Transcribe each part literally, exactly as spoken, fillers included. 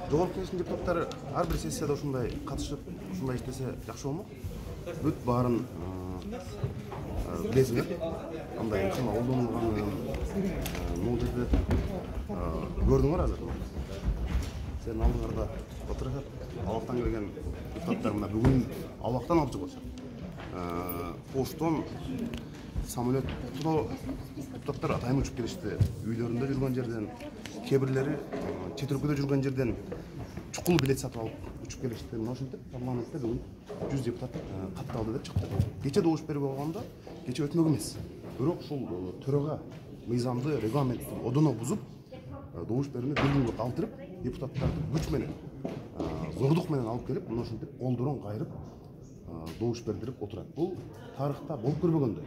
Жогорку Кеңештин депутаттары ар бир сессияда ушундай катышып, ушундай иштесе жакшы болмок. Бүт баарын билесиңер. Андай ыкма колдонулганын могул жерде көрдүңөр азыр. Сен алдыңарда отурушат, абактан келген депутаттар мына бүгүн абактан алып чыгып атышат. Поштон самолеттоо депутаттар атайын учуп келишти. Үйлөрүндө жүргөн жерден, кээ бирлери чет өлкөдө жүргөн жерден чукул билет сатып алып учуп келишти. Мына ошентип парламентте бүгүн жүз депутат катталды деп чыкты. Кече добуш берип алганда, кече өтмөк эмес. Бирок ушул төрага мыйзамды, регламентти одоно бузуп, добуш берүүнү бир күнгө калтырып, депутаттарды күч менен, зордук менен алып келип, мына ошентип колдорун кайрып, добуш бердирип отурат. Бул тарыхта болуп көрбөгөндөй.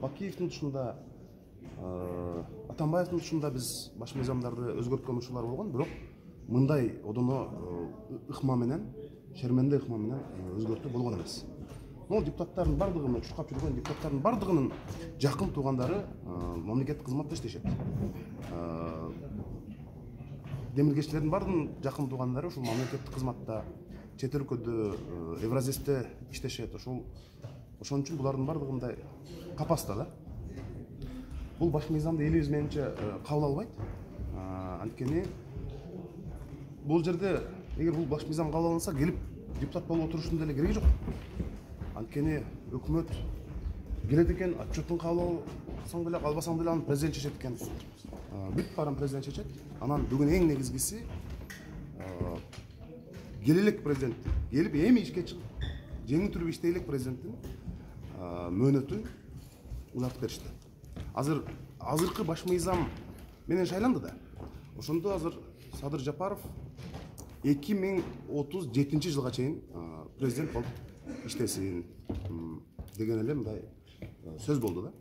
Бакиевдин тушунда, Атамбаевдин тушунда биз баш мыйзамдарды өзгөрткөн учурлар болгон, бирок мындай одоно ыкма менен, шерменде ыкма менен өзгөртүү болгон эмес. Могул депутаттардын бардыгы, мына чуркап жүргөн депутаттардын бардыгынын жакын туугандары мамлекеттик кызматта иштешет. Демиргеччилердин бардыгынын жакын туугандары ушул мамлекеттик кызматта, чет өлкөдө, Евразесте иштешет. Ошол ошон үчүн булардын бардыгы мындай капаста да. Бул баш мыйзамды элибиз менимче кабыл албайт. Анткени бул жерде эгер бул баш мыйзам кабыл алынса, келип депутат болуп отурушунун деле кереги жок. Анткени өкмөт келет экен, отчетун кабыл алсаң деле, албасаң деле аны президент чечет экен. Бүт баарын президент чечет. Анан бүгүн эң негизгиси келелек президент келип эми ишке чыгып, жеңил түрүп иштейлек президенттин мөөнөтүн узартып беришти. Азыр азыркы баш мыйзам менен шайланды да. Ошондо азыр Садыр Жапаров эки миң отуз жетинчи жылга чейин президент болуп иштесин деген эле мындай сөз болду да.